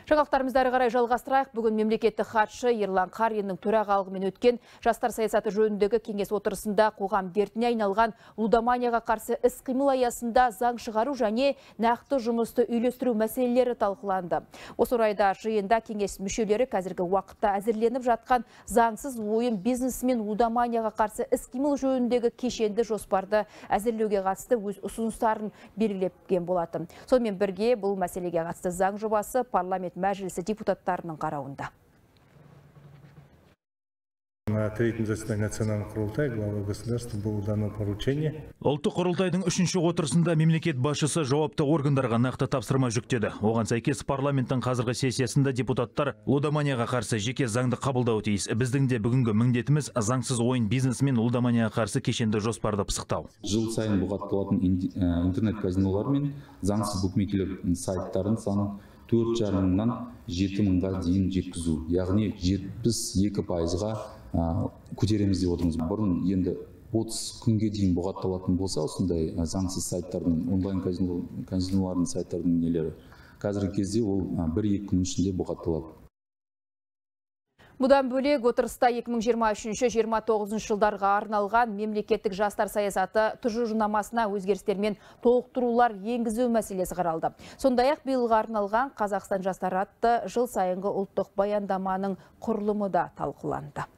Жаңалықтарымызды ары қарай жалғастырайық. Бүгін мемлекеттік хатшы Ерлан Қариннің төрағалығымен өткен жастар саясаты жөніндегі кеңес отырысында қоғам дертіне айналған лудоманияға қарсы іс-қимыл аясында заң шығару және нақты жұмысты үйлестіру мәселелері талқыланды. Осы орайда жиында кеңес мүшелері қазіргі уақытта әзірленіп жатқан заңсыз ойын бизнесі мен лудоманияға қарсы іс-қимыл жөніндегі кешенді жоспарды әзірлеуге қатысты өз ұсыныстарын белгілеген болатын. Сонымен бірге бұл мәселеге қатысты заң жобасы парламент мәжілісі депутаттарының қарауында. На третьем заседании Национального құрылтая главы государства было дано поручение. Ұлттық құрылтайдың 3-ші отырысында мемлекет басшысы жауапты органдарға нақты тапсырма жүктеді. Оған сәйкес парламенттің қазіргі сессиясында депутаттар лудоманияға қарсы жеке заңды қабылдауы тиіс. Біздің де бүгінгі міндетіміз заңсыз ойын бизнесі мен лудоманияға қарсы кешенді жоспарды пысықтау. Жыл сайын бұғатталатын интернет-казинолар мен заңсыз букмекерлер сайттарын санын 4,5-мыңнан 7,000-ға дейін жеткізу, яғни 72%-ға көтереміз деп отырмыз. Бұрын енді 30 күнге дейін бұғатталатын болса, осындай заңсыз сайттардың, онлайн казинолардың сайттардың нелері. Қазіргі кезде ол 1-2 күн ішінде бұғатталады. Бұдан бөлек отырыста 2023-2029 жылдарға арналған мемлекеттік жастар саясаты тұжырымдамасына өзгерістер мен толықтырулар енгізу мәселесі қаралды. Сондай-ақ биылға арналған Қазақстан жастары атты жыл сайынғы ұлттық баяндаманың құрылымы да талқыланды.